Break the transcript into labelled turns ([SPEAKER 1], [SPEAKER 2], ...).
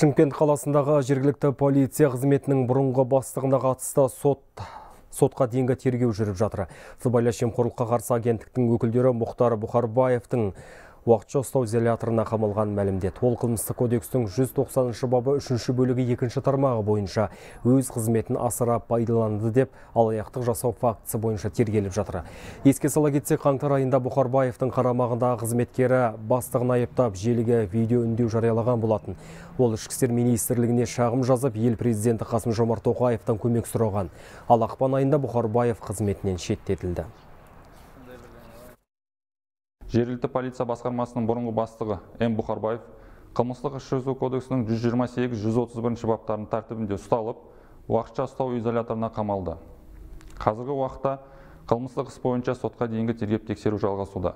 [SPEAKER 1] Шымкент қаласындағы жергілікті полиция қызметінің бұрынғы бастығына қатысты сотқа дейінгі тергеу жүріп жатыр. Сыбайлас жемқорлыққа қарсы агенттіктің өкілдері Мұхтар Бұхарбаевтың уақытша ұстау изоляторына қамалған мәлімдеді. Ол қылмыстық кодекстің 190 бабы 3 бөлігі 2 тармағы бойынша өз қызметін асыра пайдаланды деп алаяқтық жасау фактісі бойынша тергеліп жатыр. Еске сала кетсек, қаңтар айында Бұхарбаевтың қарамағындағы қызметкері бастығын айыптап желіге видео үндеу жариялаған болатын. Ол ішкі істер министрлігіне шағым жазып, ел президенті Қасым-Жомарт Тоқаевтан көмек сұраған. Ал ақпан айында Бұхарбаев қызметінен шеттетілді.
[SPEAKER 2] Жергілікті полиция басқармасының бұрынғы бастығы М. Бұхарбаев қылмыстық іс жүргізу кодексінің 128-131 баптарының тәртібінде ұсталып, уақытша ұстау изоляторына қамалды. Қазіргі уақытта қылмыстық іс бойынша сотқа дейінгі тергеп тексеру жалғасуда.